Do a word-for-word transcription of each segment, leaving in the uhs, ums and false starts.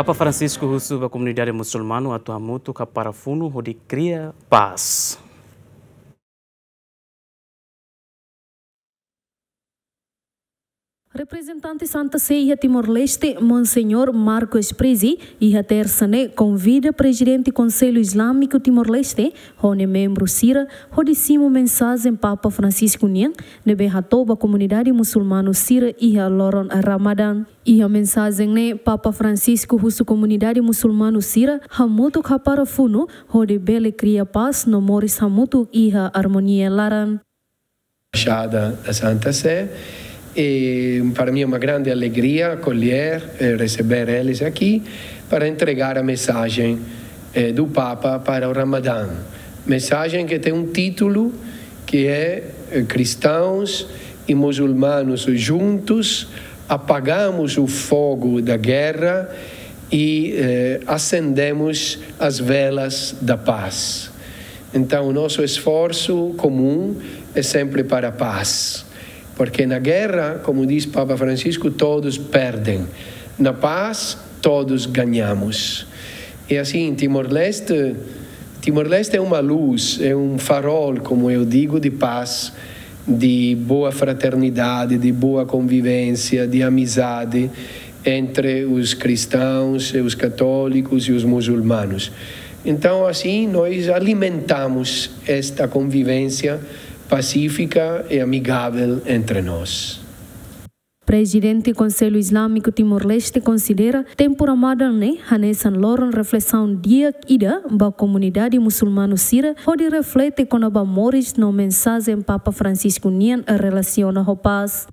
Papa Francisco husu ba komunidade musulmanu atu hamutuk hapara funu hodi kria pás. Reprezentante Santa Sé iha Timor-Leste, Monseñór Marco Sprisi, iha Tersa ne'e konvida Prezidente Konsellu Izlámiku Timor-Leste, ho nia membru sira, hodi simu mensajen Papa Francisco nian, ne'ebé hato'o ba komunidade musulmanu sira iha loron Ramadan. Iha mensajen ne'e, Papa Francisco husu komunidade musulmanu sira hamutuk hapara funu, hodi bele kria pás no moris hamutuk iha armonia laran. Embaixada da Santa Sé. E para mim é uma grande alegria acolher, eh, receber eles aqui para entregar a mensagem, eh, do Papa para o Ramadã. Mensagem que tem um título que é, eh, Cristãos e Muçulmanos Juntos, Apagamos o Fogo da Guerra e, eh, Acendemos as Velas da Paz. Então, o nosso esforço comum é sempre para a paz. Porque na guerra, como diz Papa Francisco, todos perdem. Na paz, todos ganhamos. E assim, Timor-Leste, Timor-Leste é uma luz, é um farol, como eu digo, de paz, de boa fraternidade, de boa convivência, de amizade entre os cristãos, os católicos e os muçulmanos. Então, assim, nós alimentamos esta convivência pacífica e amigável entre nós. Prezidente Konsellu Izlámiku Timor-Leste konsidera tempu Ramadan ne'e hanesan loron reflesaun di'ak ida ba komunidade musulmanu sira hodi reflete kona-ba moris no mensajen Papa Francisco nian relasiona ho pás.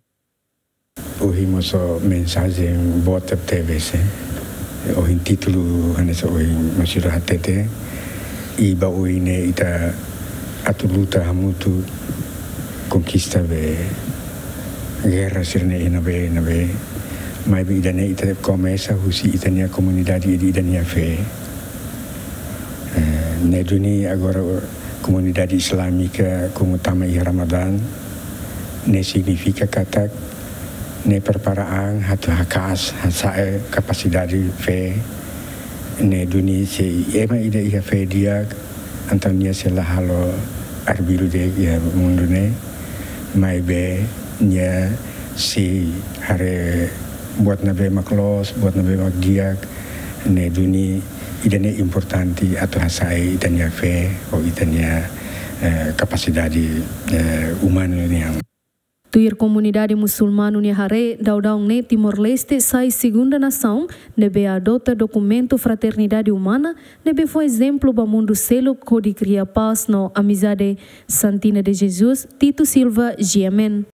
Ohin mós mensajen boot tebes, eh. Ohin títulu hanesan ohin mós ita hatete, i ba oin ne'e ita atu luta hamutuk konkista be gerra sira-ne'e iha ne'ebé, ne'ebé. Maibé ida-ne'e ita komesa husi ita-nia komunidade, ita, ita-nia fé. Eh, ne'e duni agora komunidade izlámika komu tama iha Ramadan, ne'e signifika katak ne'e prepara an atu haka'as, hasa'e kapasidade fé, ne'e duni se ema ida iha fé di'ak, entaun nia sei la halo arbiru de'it iha mundu ne'e, maibé nia sei haree buat ne'ebé mak loos, buat ne'ebé mak di'ak, ne'e duni ida-ne'e importante atu hasa'e ita-nia fé, ou ita-nia, eh, kapasidade, eh, umanu nian. Tuir komunidade musulmanu nia haree, daudaun ne'e Timor-Leste sai segunda nasaun ne'ebé adota dokumentu fraternidade umana, ne'ebé fó ezemplu ba mundu seluk hodi kria pás no amizade. Santina de Jesus, Tito Silva, G M N.